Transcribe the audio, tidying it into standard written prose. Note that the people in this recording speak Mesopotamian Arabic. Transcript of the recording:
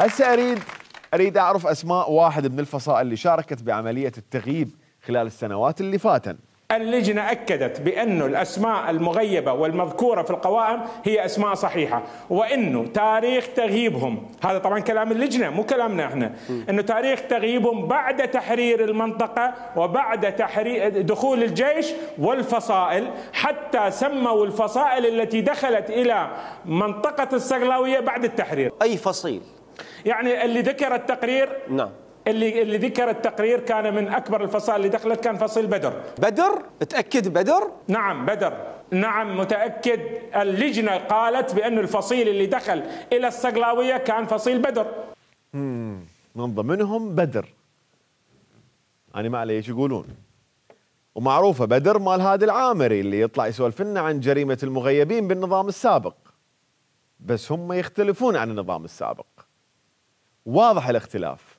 هسه اريد اعرف اسماء واحد من الفصائل اللي شاركت بعمليه التغييب خلال السنوات اللي فاتن. اللجنة أكدت بأن الأسماء المغيبة والمذكورة في القوائم هي أسماء صحيحة، وأنه تاريخ تغييبهم، هذا طبعا كلام اللجنة مو كلامنا احنا، أنه تاريخ تغييبهم بعد تحرير المنطقة وبعد تحرير دخول الجيش والفصائل، حتى سموا الفصائل التي دخلت إلى منطقة الصقلاوية بعد التحرير. أي فصيل؟ يعني اللي ذكر التقرير، نعم، اللي ذكر التقرير كان من أكبر الفصائل اللي دخلت كان فصيل بدر. بدر؟ تأكد بدر؟ نعم بدر، نعم متأكد. اللجنة قالت بأن الفصيل اللي دخل إلى الصقلاوية كان فصيل بدر. من ضمنهم بدر. أنا ما علي ايش يقولون. ومعروفة بدر مال هادي العامري اللي يطلع يسولف لنا عن جريمة المغيبين بالنظام السابق. بس هم يختلفون عن النظام السابق. واضح الاختلاف.